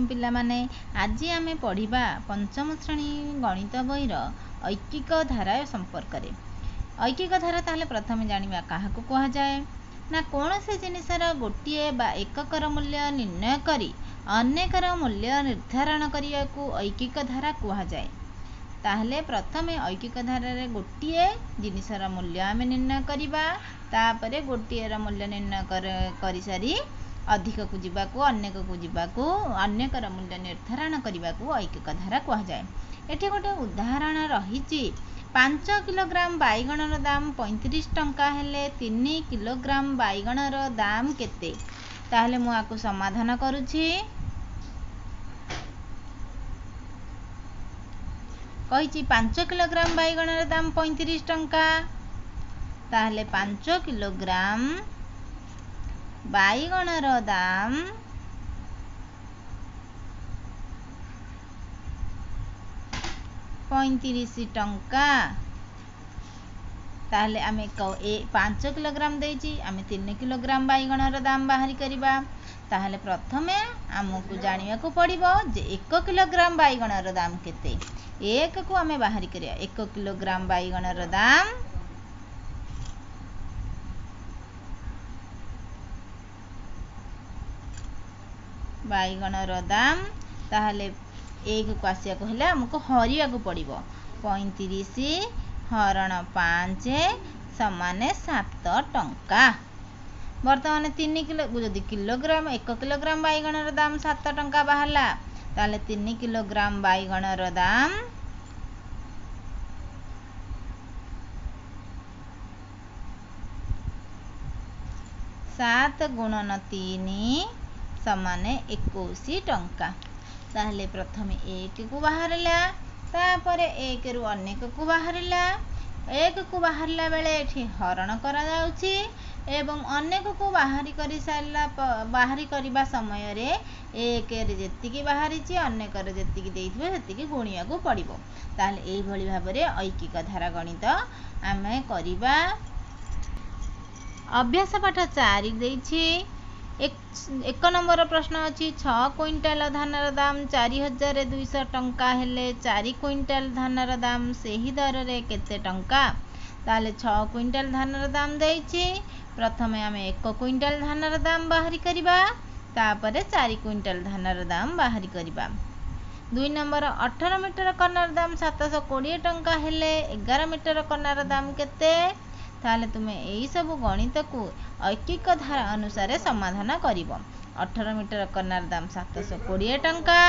ପିଲାମାନେ, ଆଜି ଆମେ ପଢ଼ିବା ପଞ୍ଚମ ଶ୍ରେଣୀ ଗଣିତ ବହିର ଐକିକ ଧାରା ସମ୍ପର୍କରେ। ଐକିକ ଧାରା ତାହେଲେ ପ୍ରଥମେ ଜାଣିବା କାହାକୁ କୁହାଯାଏ ନା, କୌଣସି ଜିନିଷର ଗୋଟିଏ ବା ଏକକର ମୂଲ୍ୟ ନିର୍ଣ୍ଣୟ କରି ଅନେକର ମୂଲ୍ୟ ନିର୍ଦ୍ଧାରଣ କରିବାକୁ ଐକିକ ଧାରା କୁହାଯାଏ। ତାହେଲେ ପ୍ରଥମେ ଐକିକ ଧାରାରେ ଗୋଟିଏ ଜିନିଷର ମୂଲ୍ୟ ଆମେ ନିର୍ଣ୍ଣୟ କରିବା, ତାପରେ ଗୋଟିଏର ମୂଲ୍ୟ ନିର୍ଣ୍ଣୟ କରିସାରି ଅଧିକକୁ ଯିବାକୁ, ଅନେକକୁ ଯିବାକୁ, ଅନେକର ମୂଲ୍ୟ ନିର୍ଦ୍ଧାରଣ କରିବାକୁ ଐକିକ ଧାରା କୁହାଯାଏ। ଏଠି ଗୋଟେ ଉଦାହରଣ ରହିଛି। 5 କିଲୋଗ୍ରାମ ବାଇଗଣର ଦାମ 35 ଟଙ୍କା ହେଲେ 3 କିଲୋଗ୍ରାମ ବାଇଗଣର ଦାମ କେତେ? ତାହେଲେ ମୁଁ ଆକୁ ସମାଧାନ କରୁଛି। କହିଛି 5 କିଲୋଗ୍ରାମ ବାଇଗଣର ଦାମ 35 ଟଙ୍କା। ତାହେଲେ 5 କିଲୋଗ୍ରାମ ବାଇଗଣର ଦାମ 35 ଟଙ୍କା। ତାହେଲେ ଆମେ ଏ 5 କିଲୋଗ୍ରାମ ଦେଇଛି, ଆମେ 3 କିଲୋଗ୍ରାମ ବାଇଗଣର ଦାମ ବାହାରି କରିବା। ତାହେଲେ ପ୍ରଥମେ ଆମକୁ ଜାଣିବାକୁ ପଡ଼ିବ ଯେ 1 କିଲୋଗ୍ରାମ ବାଇଗଣର ଦାମ କେତେ। 1କୁ ଆମେ ବାହାରି କରିବା। 1 କିଲୋଗ୍ରାମ ବାଇଗଣର ଦାମ ତାହେଲେ 1କୁ ଆସିବାକୁ ହେଲେ ଆମକୁ ହରିବାକୁ ପଡ଼ିବ। 35 ହରଣ 5 ସମାନେ 7 ଟଙ୍କା। ବର୍ତ୍ତମାନ 3 କିଲୋ ଯଦି କିଲୋଗ୍ରାମ 1 କିଲୋଗ୍ରାମ ବାଇଗଣର ଦାମ 7 ଟଙ୍କା ବାହାରିଲା, ତାହେଲେ 3 କିଲୋଗ୍ରାମ ବାଇଗଣର ଦାମ 7 ଗୁଣନ 3 ସମାନେ 21 ଟଙ୍କା। ତାହେଲେ ପ୍ରଥମେ 1କୁ ବାହାରିଲା, ତାପରେ 1ରୁ ଅନେକକୁ ବାହାରିଲା। 1କୁ ବାହାରିଲା ବେଳେ ଏଠି ହରଣ କରାଯାଉଛି ଏବଂ ଅନେକକୁ ବାହାରି କରିସାରିଲା ବାହାରି କରିବା ସମୟରେ 1ରେ ଯେତିକି ବାହାରିଛି ଅନେକରେ ଯେତିକି ଦେଇଥିବ ସେତିକି ଗୁଣିବାକୁ ପଡ଼ିବ। ତାହେଲେ ଏଇଭଳି ଭାବରେ ଐକିକ ଧାରା ଗଣିତ ଆମେ କରିବା। ଅଭ୍ୟାସ ପାଠ 4 ଦେଇଛି। 1 ନମ୍ବର ପ୍ରଶ୍ନ ଅଛି, 6 କୁଇଣ୍ଟାଲ ଧାନର ଦାମ 4200 ଟଙ୍କା ହେଲେ 4 କୁଇଣ୍ଟାଲ ଧାନର ଦାମ ସେହି ଦରରେ କେତେ ଟଙ୍କା? ତାହେଲେ 6 କୁଇଣ୍ଟାଲ ଧାନର ଦାମ ଦେଇଛି। ପ୍ରଥମେ ଆମେ 1 କୁଇଣ୍ଟାଲ ଧାନର ଦାମ ବାହାରି କରିବା, ତାପରେ 4 କୁଇଣ୍ଟାଲ ଧାନର ଦାମ ବାହାରି କରିବା। 2 ନମ୍ବର, 18 ମିଟର କନାର ଦାମ 720 ଟଙ୍କା ହେଲେ 11 ମିଟର କନାର ଦାମ କେତେ? ତାହେଲେ ତୁମେ ଏଇସବୁ ଗଣିତକୁ ଐକିକ ଧାରା ଅନୁସାରେ ସମାଧାନ କରିବ। 18 ମିଟର କନାର ଦାମ 720 ଟଙ୍କା,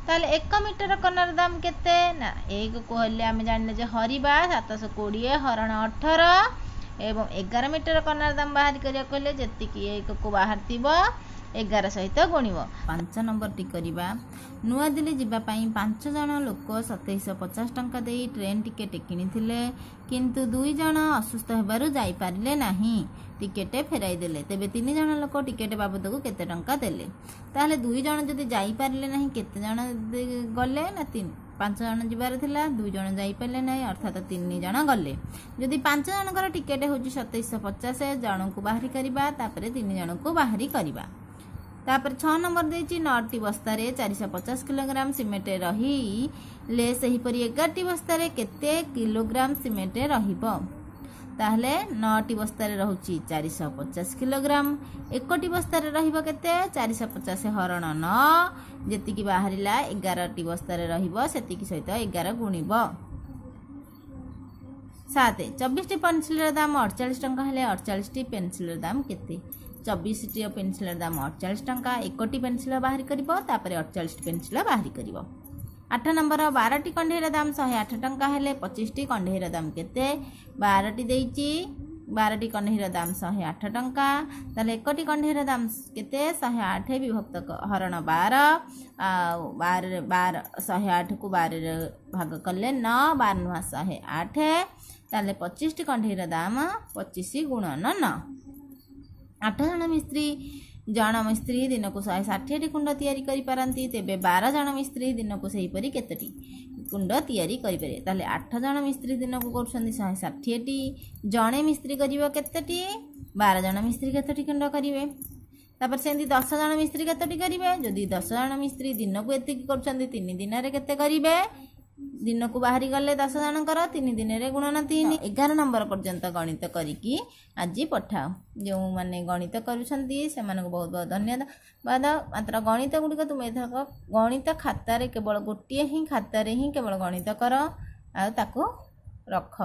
ତାହେଲେ 1 ମିଟର କନାର ଦାମ କେତେ ନା, 1କୁ ହେଲେ ଆମେ ଜାଣିଲେ ଯେ ହରିବା 720 ହରଣ 18, ଏବଂ 11 ମିଟର କନାର ଦାମ ବାହାରି କରିବାକୁ ହେଲେ ଯେତିକି 1କୁ ବାହାରିଥିବ 11 ସହିତ ଗୁଣିବ। 5 ନମ୍ବରଟି କରିବା। ନୂଆଦିଲ୍ଲୀ ଯିବା ପାଇଁ 5 ଜଣ ଲୋକ 2750 ଟଙ୍କା ଦେଇ ଟ୍ରେନ୍ ଟିକେଟ୍ କିଣିଥିଲେ, କିନ୍ତୁ 2 ଜଣ ଅସୁସ୍ଥ ହେବାରୁ ଯାଇପାରିଲେ ନାହିଁ, ଟିକେଟ୍ ଫେରାଇ ଦେଲେ। ତେବେ 3 ଜଣ ଲୋକ ଟିକେଟ୍ ବାବଦକୁ କେତେ ଟଙ୍କା ଦେଲେ? ତାହେଲେ 2 ଜଣ ଯଦି ଯାଇପାରିଲେ ନାହିଁ, କେତେ ଜଣ ଗଲେ ନା 5 ଜଣ ଯିବାର ଥିଲା, 2 ଜଣ ଯାଇପାରିଲେ ନାହିଁ, ଅର୍ଥାତ 3 ଜଣ ଗଲେ। ଯଦି 5 ଜଣଙ୍କର ଟିକେଟ୍ ହେଉଛି 2750, ଜଣଙ୍କୁ ବାହାରି କରିବା, ତାପରେ 3 ଜଣଙ୍କୁ ବାହାରି କରିବା। ତାପରେ 6 ନମ୍ବର ଦେଇଛି, 9ଟି ବସ୍ତାରେ 450 କିଲୋଗ୍ରାମ ସିମେଣ୍ଟ ରହିଲେ ସେହିପରି 11ଟି ବସ୍ତାରେ କେତେ କିଲୋଗ୍ରାମ ସିମେଣ୍ଟ ରହିବ? ତାହେଲେ 9ଟି ବସ୍ତାରେ ରହୁଛି 450 କିଲୋଗ୍ରାମ, 1ଟି ବସ୍ତାରେ ରହିବ କେତେ? 450 ହରଣ 9, ଯେତିକି ବାହାରିଲା 11ଟି ବସ୍ତାରେ ରହିବ ସେତିକି ସହିତ 11 ଗୁଣିବ। 7, 24ଟି ପେନସିଲର ଦାମ 48 ଟଙ୍କା ହେଲେ 48ଟି ପେନସିଲର ଦାମ କେତେ? 24ଟି ପେନସିଲର ଦାମ 48 ଟଙ୍କା, 1ଟି ପେନସିଲ ବାହାରି କରିବ, ତାପରେ 48ଟି ପେନସିଲ ବାହାରି କରିବ। 8 ନମ୍ବର, 12ଟି କଣ୍ଢେଇର ଦାମ 108 ଟଙ୍କା ହେଲେ 25ଟି କଣ୍ଢେଇର ଦାମ କେତେ? 12ଟି ଦେଇଛି, 12ଟି କଣ୍ଢେଇର ଦାମ 108 ଟଙ୍କା, ତାହେଲେ 1ଟି କଣ୍ଢେଇର ଦାମ କେତେ? 108 ବିଭକ୍ତ ହରଣ 12, ଆଉ ବାରରେ ବାର, 108କୁ 12ରେ ଭାଗ କଲେ 9, 12 ନୁହଁ 108, ତାହେଲେ 25ଟି କଣ୍ଢେଇର ଦାମ 25 ଗୁଣନ 9। 8 ଜଣ ମିସ୍ତ୍ରୀ, ଜଣ ମିସ୍ତ୍ରୀ ଦିନକୁ 160ଟି କୁଣ୍ଡ ତିଆରି କରିପାରନ୍ତି, ତେବେ 12 ଜଣ ମିସ୍ତ୍ରୀ ଦିନକୁ ସେହିପରି କେତୋଟି କୁଣ୍ଡ ତିଆରି କରିପାରିବେ? ତାହେଲେ 8 ଜଣ ମିସ୍ତ୍ରୀ ଦିନକୁ କରୁଛନ୍ତି 160ଟି, ଜଣେ ମିସ୍ତ୍ରୀ କରିବ କେତୋଟି? 12 ଜଣ ମିସ୍ତ୍ରୀ କେତୋଟି କୁଣ୍ଡ କରିବେ? ତାପରେ ସେମିତି 10 ଜଣ ମିସ୍ତ୍ରୀ କେତୋଟି କରିବେ? ଯଦି 10 ଜଣ ମିସ୍ତ୍ରୀ ଦିନକୁ ଏତିକି କରୁଛନ୍ତି, 3 ଦିନରେ କେତେ କରିବେ? ଦିନକୁ ବାହାରି ଗଲେ 10 ଜଣଙ୍କର 3 ଦିନରେ ଗୁଣନ 3। 11 ନମ୍ବର ପର୍ଯ୍ୟନ୍ତ ଗଣିତ କରିକି ଆଜି ପଠାଅ। ଯେଉଁମାନେ ଗଣିତ କରୁଛନ୍ତି ସେମାନଙ୍କୁ ବହୁତ ବହୁତ ଧନ୍ୟବାଦ। ମାତ୍ର ଗଣିତ ଗୁଡ଼ିକ ତୁମେ ଏଥରକ ଗଣିତ ଖାତାରେ, କେବଳ ଗୋଟିଏ ହିଁ ଖାତାରେ ହିଁ କେବଳ ଗଣିତ କର ଆଉ ତାକୁ ରଖ।